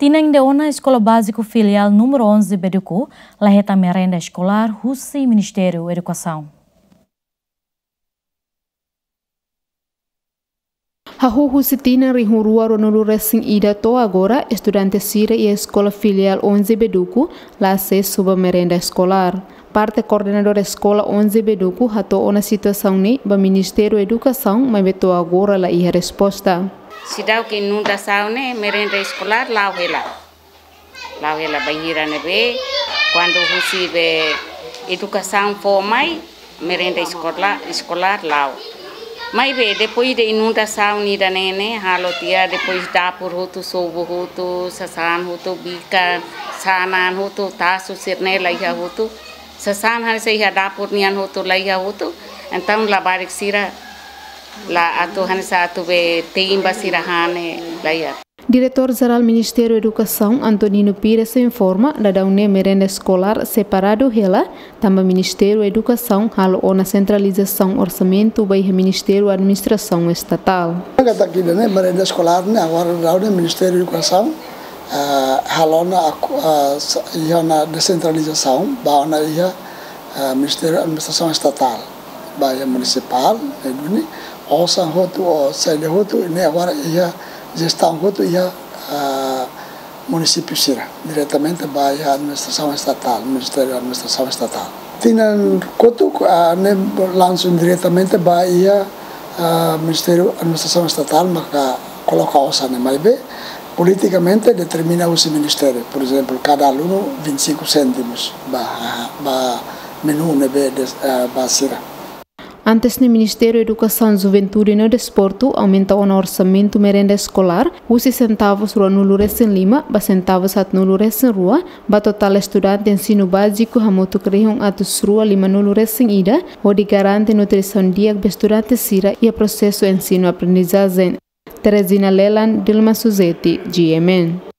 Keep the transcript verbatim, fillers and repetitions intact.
Tinan ida ona Eskola Báziku Filiál númeru onze Beduku la hetan merenda eskolár husi Ministériu Edukasaun. Hahú husi tinan rihun rua ruanulu resin ida to'o agora, estudante sira iha Eskola Filiál onze Beduku la asesu ba merenda eskolár. Parte koordenadór Eskola onze Beduku hato'o ona situasaun ne'e ba Ministériu Edukasaun, maibé to'o agora la iha resposta. Seidauk inundasaun ne'e merenda eskolár la'o hela. La'o hela bainhira ne'ebé, kuandu husi be edukasaun fó mai, merenda eskola-, eskolár la'o. Maibé, depois de inundasaun ida-ne'e ne'e, halo tiha, depois dapur hotu, sobu hotu, sasán hotu, bikan, sanan hotu, tasu sira-ne'e la iha hotu. Sasán hanesan iha dapur nian hotu la iha hotu. Entaun labarik sira la atu hanesan atu be tein ba sira han ne'e la iha. Diretór Jerál Ministériu Edukasaun, Antonino Pires, informa, daudaun ne'e merenda eskolár separadu hela, tanba Ministériu Edukasaun halo ona sentralizasaun orsamentu ba iha Ministériu Administrasaun Estatál. Katak ida-ne'e merenda eskolár ne'e agora daudaun ne'e Ministériu Edukasaun, ah, halo ona aku-, ah, sa-, iha ona desentralizasaun, ba ona iha, ah, Ministériu Administrasaun Estatál. Ba iha munisipál, ne'e duni, osan hotu, ou saida hotu, ne'e agora iha jestaun hotu iha, ah, munisípiu sira, diretamente ba iha administrasaun estatál, Ministériu Administrasaun Estatál. Tinan kotuk, ah, ne'e langsung diretamente ba iha, ah, Ministériu Administrasaun Estatál maka koloka osan ne'e, maibé politikamente determina husi ministériu, por ezemplu, kada alunu vinte e cinco cêntimos ba, ba menú ne'ebé des-, ah, ba sira. Antes ne'e Ministériu Edukasaun, Juventude no Desportu aumenta ona orsamentu merenda eskolár husi sentavus ruanulu resin lima ba sentavus haatnulu resin rua, ba totál estudante ensinu báziku hamutuk rihun atus rua limanulu resin ida, hodi garante nutrisaun di'ak ba estudante sira iha prosesu ensinu-aprendizajen. Teresina Lelan, Dilma Suzeti, G M N.